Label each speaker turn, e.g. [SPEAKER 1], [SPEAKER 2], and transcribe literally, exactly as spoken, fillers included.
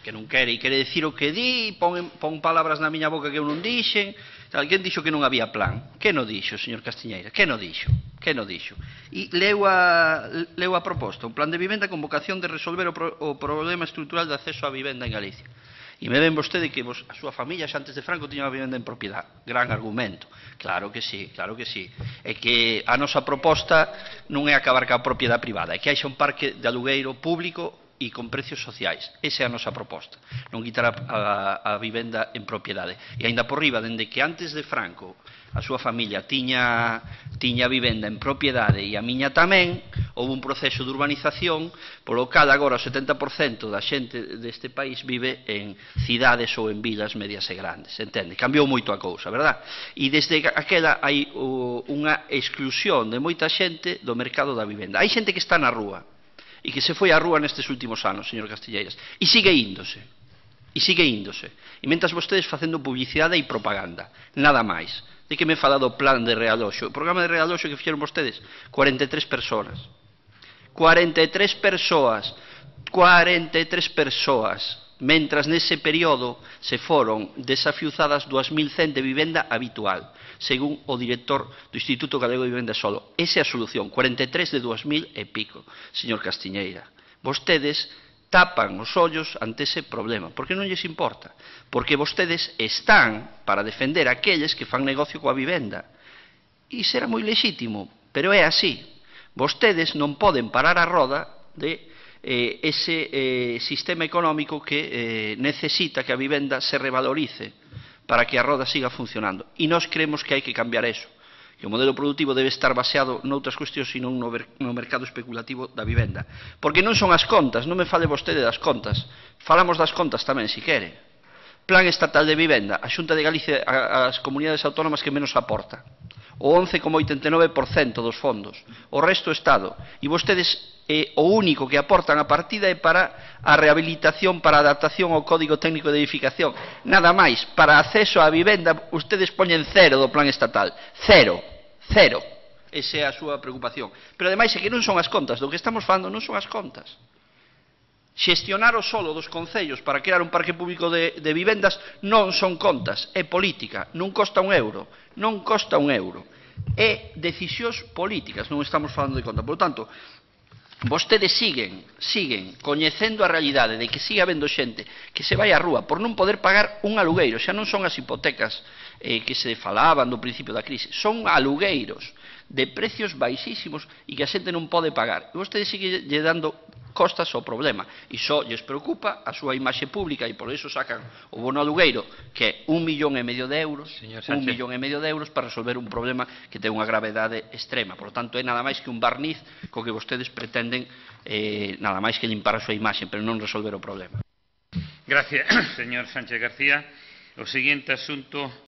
[SPEAKER 1] que non quere, e quere dicir o que di, pon, pon palabras na miña boca que eu non dixen. Alguén dixo que non había plan. Que non dixo, señor Castiñeira? Que non dixo? Que non dixo? E leu a, leu a proposta, un plan de vivenda con vocación de resolver o, pro, o problema estrutural de acceso á vivenda en Galicia. E me ven vostede que vos, a súa familia xa antes de Franco tiña unha vivenda en propiedade. Gran argumento. Claro que sí, claro que sí. É que a nosa proposta non é acabar ca propiedade privada, é que haixa un parque de alugueiro público e con precios sociais. Esa é a nosa proposta. Non quitar a, a, a vivenda en propiedade. E aínda por riba, dende que antes de Franco a súa familia tiña, tiña vivenda en propiedade e a miña tamén, houve un proceso de urbanización polo cal agora o setenta por cento da xente deste país vive en cidades ou en vilas medias e grandes, entende? Cambiou moito a cousa, verdad? E desde aquela hai uh, unha exclusión de moita xente do mercado da vivenda. Hai xente que está na rúa e que se foi á rúa nestes últimos anos, señor Castilleiras, e sigue índose, e sigue índose. E mentas vostedes facendo publicidade e propaganda, nada máis. De que me fala do plan de realoxo? O programa de realoxo que fixeron vostedes, cuarenta e tres persoas. cuarenta e tres persoas. cuarenta e tres persoas. Mentras nese período se foron desafiuzadas dúas mil cen de vivenda habitual, según o director do Instituto Galego de Vivenda Solo. Esa é a solución, cuarenta e tres de dúas mil e pico, señor Castiñeira. Vostedes tapan os ollos ante ese problema, porque non lles importa, porque vostedes están para defender aqueles que fan negocio coa vivenda, e será moi lexítimo, pero é así. Vostedes non poden parar a roda de eh, ese eh, sistema económico que eh, necesita que a vivenda se revalorice para que a roda siga funcionando, e nós creemos que hai que cambiar eso, que o modelo productivo debe estar baseado noutras cuestións e non no, no mercado especulativo da vivenda. Porque non son as contas, non me fale vostede das contas. Falamos das contas tamén, si quere. Plan estatal de vivenda, a Xunta de Galicia, as comunidades autónomas que menos aporta. O once coma oitenta e nove por cento dos fondos. O resto o Estado. E vostedes, eh, o único que aportan a partida é para a rehabilitación, para a adaptación ao Código Técnico de Edificación. Nada máis, para acceso á vivenda, ustedes poñen cero do plan estatal. Cero. Cero. Esa é a súa preocupación. Pero ademais é que non son as contas. Do que estamos falando non son as contas. Xestionar o solo dos concellos para crear un parque público de, de vivendas non son contas, é política, non costa un euro, non costa un euro, é decisións políticas, non estamos falando de conta. Por lo tanto, vostedes siguen, siguen coñecendo a realidade de que siga habendo xente que se vai á rúa por non poder pagar un alugueiro. Xa non son as hipotecas eh, que se falaban do principio da crise, son alugueiros de precios baixísimos e que a xente non pode pagar. E vostedes siguen lle dando costas ao problema, e só lles preocupa a súa imaxe pública, e por iso sacan o bono alugueiro, que é un millón e medio de euros, un millón e medio de euros para resolver un problema que ten unha gravedade extrema. Por lo tanto, é nada máis que un barniz co que vostedes pretenden eh, nada máis que limpar a súa imaxe, pero non resolver o problema.
[SPEAKER 2] Gracias, señor Sánchez García. O seguinte asunto